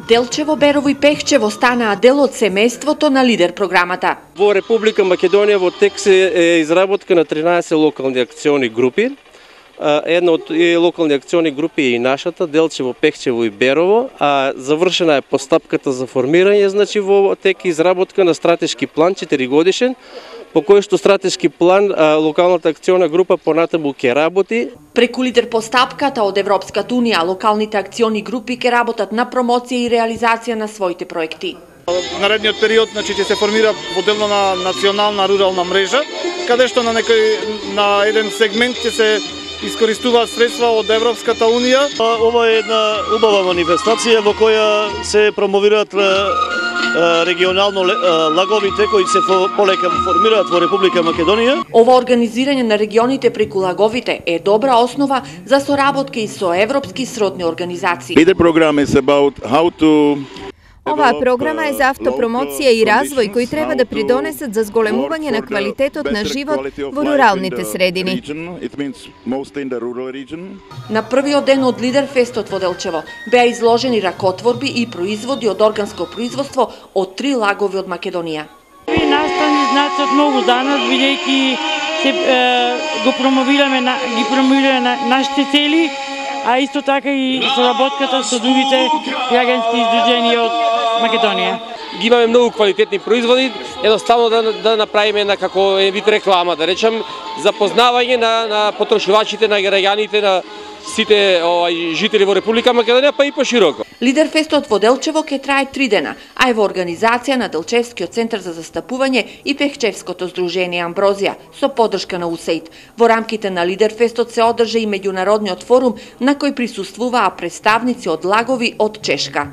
Делчево, Берово и Пехчево станаа дел од семејството на Лидер програмата. Во Република Македонија во тек е изработка на 13 локални акциони групи. Една од локални акциони групи е и нашата, Делчево, Пехчево и Берово, а завршена е постапката за формирање, значи во тек изработка на стратешки план 4-годишен, по кој што стратешки план локалната акциона група понатаму ќе работи. Преку Лидер постапката од Европската унија, локалните акциони групи ќе работат на промоција и реализација на своите проекти. Наредниот период ќе се формира моделна национална рурална мрежа, каде што на еден сегмент ќе се искористуваат средства од Европската унија. Ова е една убава манифестација во која се промовираат регионално лаговите кои се полека формираат во Република Македонија. Ова организирање на регионите преку лаговите е добра основа за соработка и со европски сродни организации. Оваа програма е за автопромоција и развој кои треба да придонесат за зголемување на квалитетот на живот во руралните средини. На првиот ден од Лидер фестот во Делчево беа изложени ракотворби и производи од органско производство од 3 лагови од Македонија. Настани значат многу за нас, бидејќи ги промовираме нашите цели, а исто така и соработката со другите граѓански издруженија од Македонија. Ги имаме многу квалитетни производи, едноставно да направиме на како вид реклама, да речем, запознавање на потрошувачите, на граѓаните, на сите жители во Република Македонија, па и пошироко. Лидер фестот во Делчево ќе трае 3 дена, а е во организација на Делчевскиот центар за застапување и Пехчевското здружение Амброзија со поддршка на УСАИД. Во рамките на Лидер фестот се одржа и меѓународниот форум на кој присуствуваа представници од лагови од Чешка.